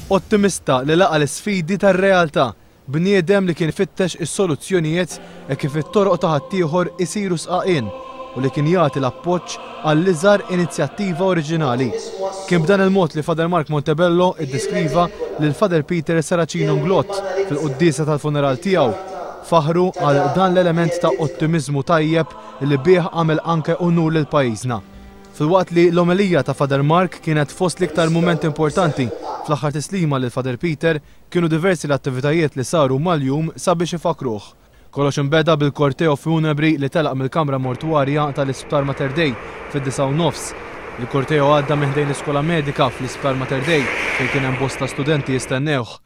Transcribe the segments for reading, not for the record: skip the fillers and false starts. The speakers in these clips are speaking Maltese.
Ottimista li laqa' l-isfidi tar-realtà, bniedem li kien ifittex is-soluzzjonijiet hekk kif it-toroq ta' ħaddieħor isiru sqaqien u li kien jagħti l-appoġġ għall-iżgħar inizjattiva oriġinali. Kien b'dan il-mod li Father Mark Montebello iddeskriva lil Father Peter Serracino Inglott fil-quddiesa tal-funeral tiegħu. Faħħru għal dan l-element ta' ottimiżmu tajjeb li bih għamel anke unur lil pajjiżna. Filwaqt li l-omelija ta' Father Mark kienet fost l-iktar mumenti importanti fl-aħħar tislima lil Father Peter, kienu diversi l-attivitajiet li saru mal-jum sabiex ifakkruh. Kollox inbeda bil-korteo funebri li telaq mill-kamra mortwarja tal-Isptar Mater Dei fid-9:30. Il-korteo għadda minn ħdejn l-Iskola Medika fl-Isptar Mater Dei fejn kien hemm bosta studenti jistennewh.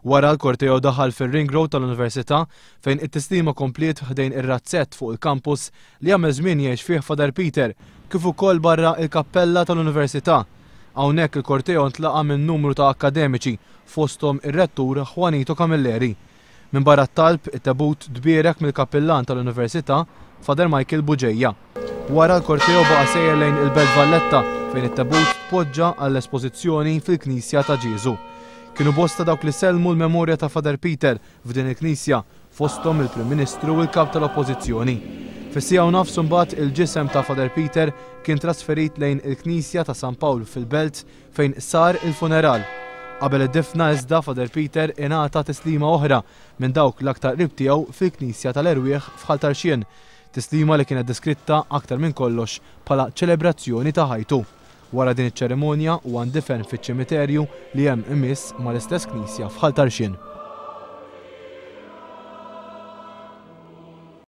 Wara l-korteo daħal fir-Ring Road tal-Università fejn it-tislima kompliet ħdejn ir-razzett fuq il-campus li għamel żmien jgħix fih Father Peter, kif ukoll barra il-kappella tal-Università. Hawnhekk il-korteo ntlaqa' minn numru ta' akkademiċi, fosthom ir-Rettur Juanito Camilleri. Minbarra t-talb, it-tebut tbierek mill-Kappillan tal-Università, Father Michael Bugeja. Wara l-korteo baqa' sejjer lejn il-Belt Valletta fejn it-tebut tpoġġa għall-espożizzjoni fil-Knisja ta' Ġieżu. Kienu bosta dawk li sellmu l-memorja ta' Father Peter f'din il-knisja, fosthom il-Prim Ministru u l-Kap tal-Oppożizzjoni. Fis-siegħa u nofs imbagħad il-ġisem ta' Father Peter kien trasferit lejn il-Knisja ta' San Pawl fil-Belt fejn sar il-funeral. Qabel id-difna iżda Father Peter ingħata tislima oħra minn dawk l-aktar qrib tiegħu fil-Knisja tal-Erwieħ f'Ħal Tarxien, tislima li kienet deskritta aktar minn kollox bħala ċelebrazzjoni ta' ħajtu. Wara din iċ-ċerimonja huwa ndifen fiċ-ċimiterju li hemm imiss mal-istess knisja f'Ħal Tarxien.